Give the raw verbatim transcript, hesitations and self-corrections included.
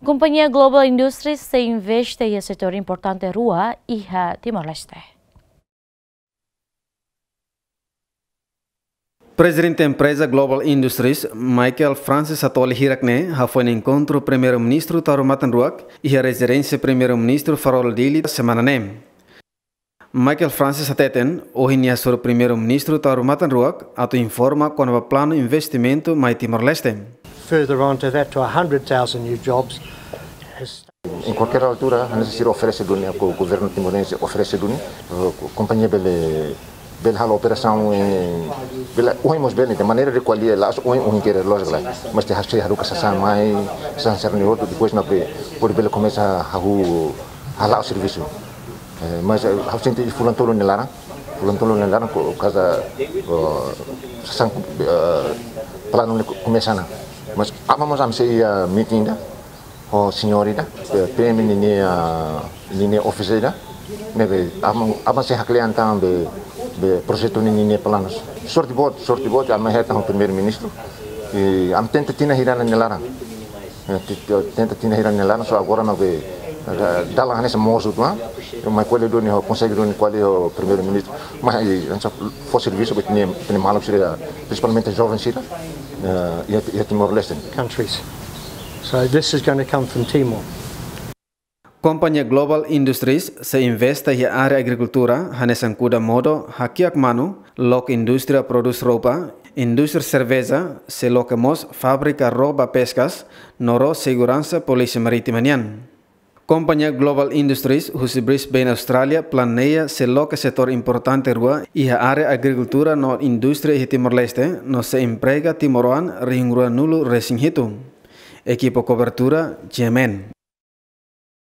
Kompañia Global Industries sei investe iha setór importante rua iha Timor-Leste. Prezidente empreza Global Industries, Michael Francis Satolli hirak ne'e hafoin enkontru Primeiru-Ministru Taur Matan Ruak iha rezidénsia Primeiru-Ministru Farola Dili semana ne'e. Michael Francis hateten, ohin nia hasoru Primeiru-Ministru Taur Matan Ruak atu informa kona-ba planu investimentu mai Timor-Leste. Further on to that, to a hundred thousand new jobs. Em qualquer altura, hanesan sira oferese duni, governu timorense oferese duni, eh, kompañia bele, bele halo operasaun, eh, bele, ohin mós bele, de maneira de kualia, la, ohin, ohin kere loja la. Mas te hasi haruka sasán mai, sasán sira-ne'e hotu, depois mak be, pode bele komesa hahú, hala'o servisu. Eh, mas, eh, ha'u sente fulan tolu nia laran, fulan tolu nia laran, ko, kaza, oh, sasán, eh, planu ne'e komesa ona. Mas, aban mós ami sei iha meeting ida, ho señór ida, eh, P M ninia, ninia office ida, ne'ebé aban, aban sei haklean tan be, be projetu ninia planus. Sorte boot, sorte boot, ami hetan ho Primeiru-Ministru, i ami tenta tinan hira nia laran. Eh, ti-, ti-, tenta tinan hira nia laran, só agora mak be, eh, dalan hanesan mosu uitoan, mai ko'alia duni ho, konsege duni ko'alia ho Primeiru-Ministru, mai, eh, hanesan fó servisu ba ita-nia, ita-nia maluk sira, prinsipalmente joven sira, eh, iha, iha Timor-Leste. Countries. So this is gonna come from Timor. Kompañia Global Industries sei investe iha área agrikultura, hanesan kuda modo, hakiak manu, loke indústria prodús roupa, indústria serveja, sei loke mós fábrika ró ba peskas, no ró seguransa polísia marítima nian. Kompañia Global Industries, husi Brisbane, Austrália, planeia sei loke setór importante rua iha área agrikultura no indústria iha Timor-Leste, no sei emprega timoroan rihun ruanulu resin hitu. Ekipa kobertura, G M N.